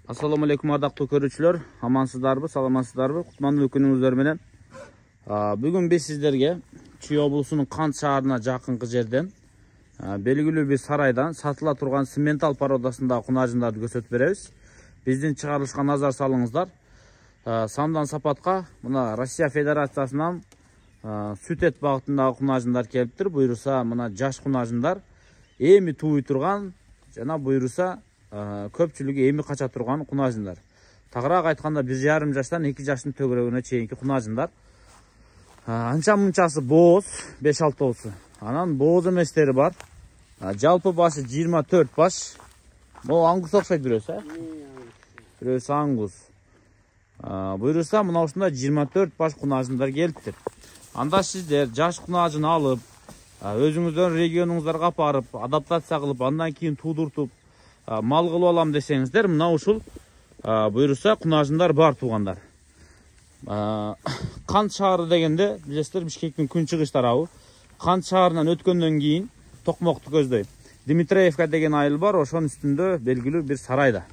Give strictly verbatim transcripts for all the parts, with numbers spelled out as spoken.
Assalamu alaikum ардактуу көрүүчүлөр, амансыздарбы, саламатсыздарбы? Кутмандуу күнүңүздөр менен. Бүгүн биз сиздерге Чүй облусунун Кант шаарына жакынкы жерден белгилүү бир сарайдан сатыла турган цементал породасындагы кунажындарды көрсөтүп беребиз. Биздин чыгарылышка назар салыңыздар. Самдан Сапатка мына Россия Федерациясынан сүт эт багытындагы кунажындар келиптир. Буйруса мына жаш кунажындар эми тууй турган жана буйруса көпчүлүгү эми кача турган кунажындар. Тагыраак айтканда бир жарым жаштан эки жаштын төгөрөгүнө чейинки кунажындар. Анча мынчасы бооз, беш алтоосу. Анан бооз эместери бар. Жалпы башы жыйырма төрт баш. Могу аңгус окшойт бирөөсү, э? Бирөөсү аңгус. Буйруса мына ушундай жыйырма төрт баш кунажындар келиптир. Анда сиздер жаш кунажын алып, өзүңүздөрдүн регионуңуздарга апарып, адаптация кылып, андан кийин туудуртуп, мал кылып алам десеңиздер, мына ушул буйруса кунажындар бар туугандар. Кант шаары дегенде, билесиздер, Бишкектин күнчыгыш тарабы. Кант шаарынан өткөндөн кийин Токмокту көздөй Дмитриевка деген айыл бар, ошонун үстүндө белгилүү бир сарайда.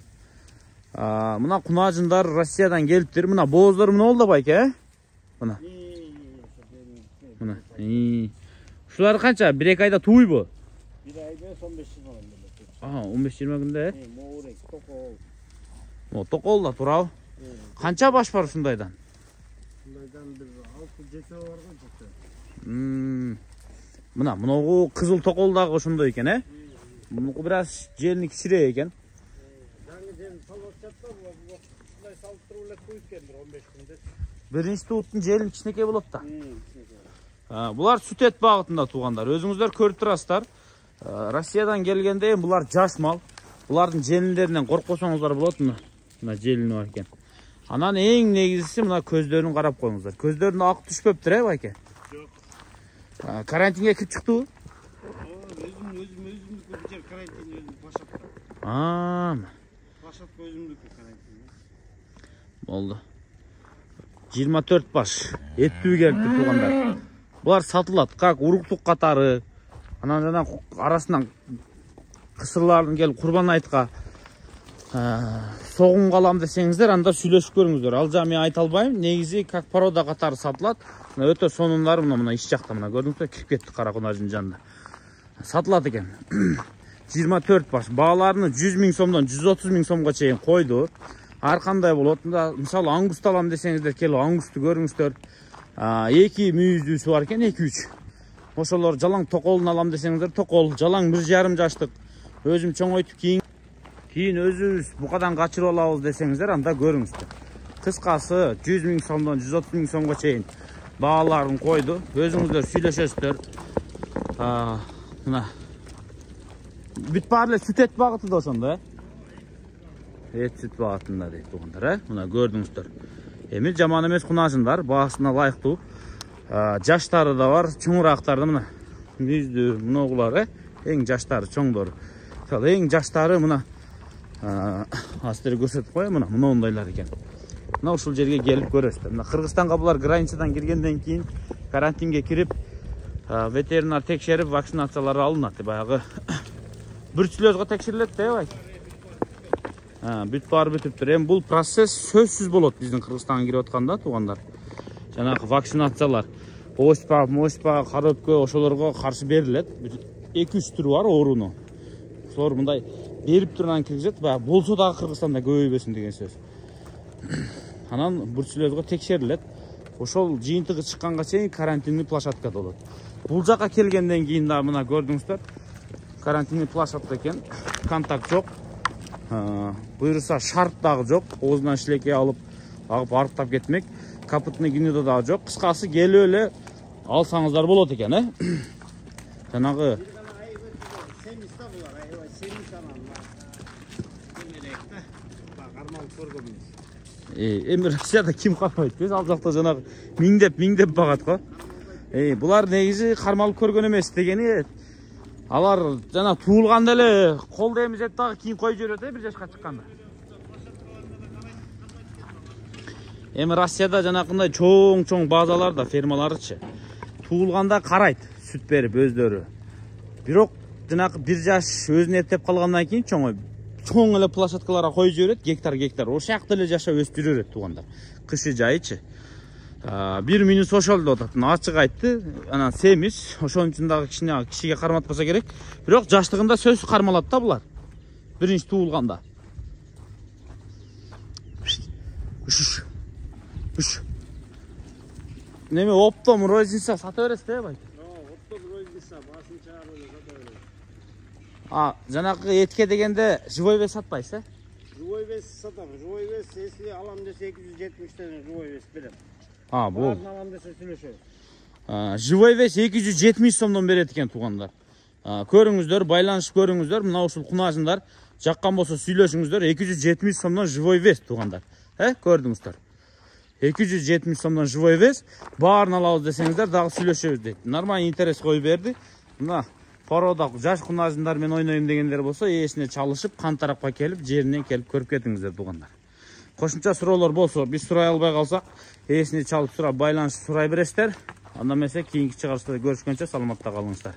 Мына кунажындар Россиядан келиптир. Мына бооздор мына болду байке, э? Мына. Мына. Ушулар канча? бир эки айда тууйбу? бир айда он беш жыйырма күндө. Ага, он беш жыйырма күндө, э? Моурек, токол. О, токол да турабы? Канча баш бар ушундайдан? Ушундайдан бир алты жети бар го, жети. Мына, мынагу кызыл токолдагы ошондой экен, э? Мунуку бир аз желини кичирээк экен. Жаңы жерин салып жатса, ушундай салып туруп эле туйт экен бир он беш күндө. Биринчи тууттун желини кичинекей болот да. Булар сүт эт багытында туугандар. Өзүңүздөр көрүп турасыздар. Россиядан келгенде булар жаш мал. Булардын желиндеринен коркпосоңуздар болот. Мына желини бар экен. Анан эң негизгиси мына көздөрүн карап коюңуздар. Көздөрүнө ак түшпөптүр, э, байке? Жок. Карантинге кирип чыктыбы? Өзүм өзүм өзүмдүкү жер карантин өзүм башап. Аа. Башап өзүмдүкү карантин. Болду. жыйырма төрт баш эттүү келиптир туугандар. Булар сатылат, как уруктук катары. Анан жана арасынан кысырлардын келип Курбан айтка согун калам десеңиздер, анда сүйлөшүп көрүңүздөр. Ал жа мен айта албайм. Негизи как порода катары сатылат. Мына өтө сонундары мына мына ич жакта мына көрдүңүздөр, кирип кетти кара кунажынын жанында. Сатылат экен. жыйырма төрт баш. Бааларыны жүз миң сомдон жүз отуз миң сомго чейин койду. Ар кандай болот? Мисалы аңгусту алам десеңиздер, келип аңгусту көрүңүздөр. эки мүйүздүүсү бар экен, эки үч. Ошолор жалаң токолун алам десеңиздер, токол, жалаң бир жарым жаштык. Өзүм чоңойтуп кийин кийин өзүбүз букадан качырып алабыз десеңиздер, анда көрүңүздөр. Кыскасы жүз миң сомдон жүз отуз миң сомго чейин бааларын койду. Өзүңүздөр сүйлөшөсүздөр. Мына бүт баары эле сүт эт багыты да ошондо, э? Эт сүт багытында дейт туугандар, э? Мына көрдүңүздөр. Эми жаман эмес кунажындар, баасына ылайыктуу. Жаштары да бар, чоңурактары да мына. Мүйүздүү мыногулар, э? Эң жаштары, чоңдору. Эң жаштары мына астерге көрсөтүп коеюн, мына мындай экен. Мына ушул жерге келип көрөсүздөр. Мына Кыргызстанга булар границадан киргенден кийин карантинге кирип, ветеринар текшерип, вакцинациялары алынат. Баягы бүрчүлөргө текшерилет, э, бай. Бүт баары бүтүптүр. Эми бул процесс сөзсүз болот биздин Кыргызстанга кирип атканда туугандар. Жанагы вакцинациялар, оспа, моспа, кара өпкө ошолорго каршы берилет. эки үч түрү бар оорунун. Ошолор мындай берип турган киргизет, баягы болсо дагы Кыргызстанда көбөйбөсүн деген сөз. Анан бүрчүлөргө текшерилет. Ошол жыйынтыгы чыкканга чейин карантинный площадкада болот. Бул жака келгенден кийин да мына көрдүңүздөр. Карантинный площадка экен. Контакт жок. Буйруса шарт дагы жок. Оозунан шилекей алып, агып арыктап кетмек. Капытный гнидо дагы жок. Кыскасы келип эле алсаңыздар болот экен, э? Жанагы эми Россияда ким кармайт? Биз ал жакта жанагы миңдеп миңдеп багат го. Булар негизи кармалып көргөн эмес дегени. Алар жана туулганда эле колду эмизет дагы кийин коюп жиберет, э, бир жашка чыкканда. Эми Россияда жанакындай чоң-чоң базаларда, фермаларычы туулганда карайт, сүт берип өздөрү. Бирок жанакы бир жаш өзүн эптеп калгандан кийин чоңой чоң эле площадкаларга коюп жиберет, гектар гектар. Ошол жакта эле жашап өсүп жүрө берет туугандар. Кышы жайчы. бир минус ошол деп атат. Ачык айтты. Анан семиз, ошонун үчүн дагы кичине кишиге карматпаса керек. Бирок жаштыгында сөзсүз кармалат да булар. Биринчи туулганда. Уш. Уш. Неме оптом розница сата бересиз да, бай? Оптом розница, басын чыгарып эле сата беребиз. А, жанагы этке дегенде живой вес сатпайсыз, э? Живой вес сатамыз. Живой вес, если алам десе эки жүз жетимиштен живой вес берем. А, бул. Баарын алам десе сүйлөшөбүз. Живой вес эки жүз жетимиш сомдон берет экен туугандар. Көрүңүздөр, байланышып көрүңүздөр, мына ушул кунажындар жаккан болсо сүйлөшүңүздөр, эки жүз жетимиш сомдон живой вес туугандар. Э, көрдүңүздөр. эки жүз жетимиш сомдон живой вес, баарын алабыз десеңиздер дагы сүйлөшөбүз дейт. Нормально интерес коюп берди. Мына Форода жаш кунажындар мен ойнойм дегендер болсо, ээсине чалышып, кан тарапка келип, жеринен келип көрүп кетиңиздер туугандар. Кошумча суроолор болсо, биз сурай албай калсак, ээсине чалып сурап, байланышып сурай бересиздер. Анда эмесе кийинки чыгарышта көрүшкөнчө саламатта калыңыздар.